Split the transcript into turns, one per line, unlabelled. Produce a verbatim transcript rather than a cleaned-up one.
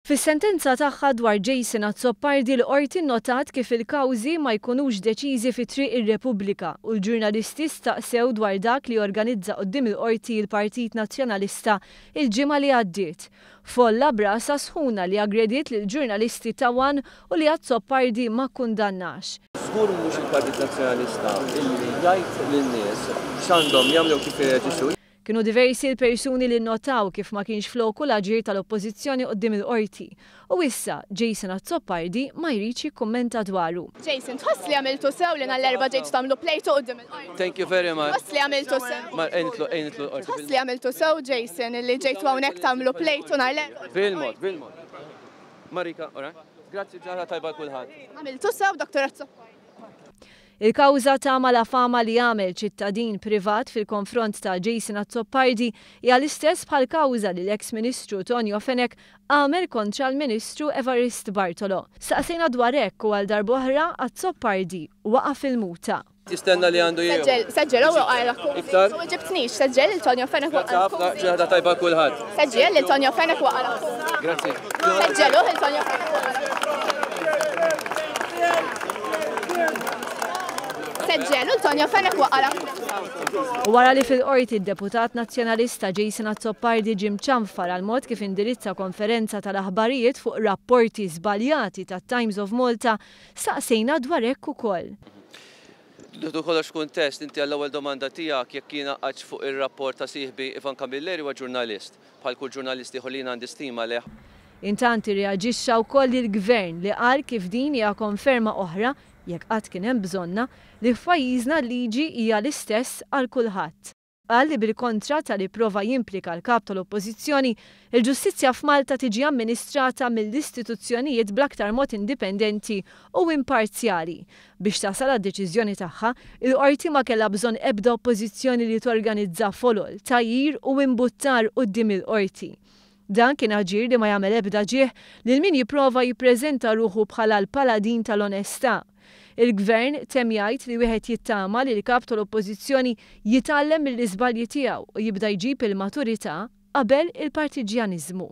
Fis-sentenza tagħha dwar Jason Azzopardi, l-Qorti nnotat kif il-kawżi ma jkunux deċiżi fi Triq ir-Repubblika u l-ġurnalisti staqsew dwar dak li organizza quddiem il-Qorti l-Partit Nazzjonalista il-ġimgħa li għaddiet. Folla b'rasha sħuna li aggrediet lill-ġurnalisti ta' ONE u li Azzopardi ma kkundannax.
Żgur mhux il-Partit Nazzjonalista illi jgħid lin-nies x'għandhom jagħmlu, kif jirreaġixxu.
Kienu diversi l-persuni li notaw kif ma kienx floku l-aġir tal-oppożizzjoni quddiem il-qorti. U issa Jason Azzopardi ma jridx jikkummenta dwaru.
Jason, tħoss li għamiltu sew li nhar l-Erbgħa ġejtu tagħmlu plejtu quddiem il-qorti?
Thank you very much.
Tħoss li għamiltu sew?
Ma ejnitlu ejnitlu l-qorti.
Tħoss li għamiltu sew, Jason, li ġejtu hawnhekk tagħmlu plejtu nhar l-Erbgħa?
Bil-mod, bil-mod. Marika, ora. Grazzi, ġurnata tajba kulħadd.
Għamiltu sew, Doktor Azzopardi?
Il-kawża ta' malafama li għamel ċittadin privat fil-konfront ta' Jason Azzopardi hija l-istess bħal kawża li l-eks Ministru Tonio Fenech għamel kontra l-Ministru Evarist Bartolo. Staqsejna dwar hekk u għal darb'oħra Azzopardi waqa' fil-muta.
Tistenna li għandu jieħu.
Seġġel u għajla.
Iktar?
U ġibtnix, seġġel il-Tonio Fenech
Grazzi ħafna, ġurnata tajba kulħadd.
Seġġel il-Tonio Fenech waqgħa.
Grazzi.
Seġġelu il-Tonio Fenech waqgħa. Seġġelu l-Tonio Fenech waqgħa.
U wara li fil-qorti d-deputat nazzjonalista Jason Azzopardi ġie mċanfar għal mod kif indirizza konferenza tal-aħbarijiet fuq rapporti żbaljati tat Times of Malta, saqsejna dwar hekk ukoll.
Dudu kollox kuntest, inti għall-ewwel domanda tiegħek jekk jiena qgħadx fuq ir-rapport ta' sieħbi Ivan Camilleri huwa ġurnalist. Bħal kull ġurnalist ieħor li jiena għandi stima leh.
Intant irreaġixxa wkoll il-gvern li qal kif din hija konferma oħra, jekk qatt kien hemm bżonna, li f'pajjiżna l-liġi hija l-istess għal kulħadd. Qal li bil-kontra tal-li prova jimplika l-kap tal-Oppożizzjoni, il-ġustizzja f'Malta tiġi amministrata mill-istituzzjonijiet bl-aktar mod indipendenti u imparzjali. Biex tasal għad-deċiżjoni tagħha, il-qorti ma kellha bżonn ebda oppożizzjoni li torganizza folol, tgħajjir u imbuttar quddiem il-qorti. Dan kien aġir li ma jagħmel ebda ġieħ lil min jipprova jippreżenta ruħu bħala l-paladin tal-onestà. Il-gvern temm jgħid li wieħed jittama li l-kap tal-Oppożizzjoni jitgħallem mill-iżbalji tiegħu u jibda jġib il-maturità qabel il-partiġjaniżmu.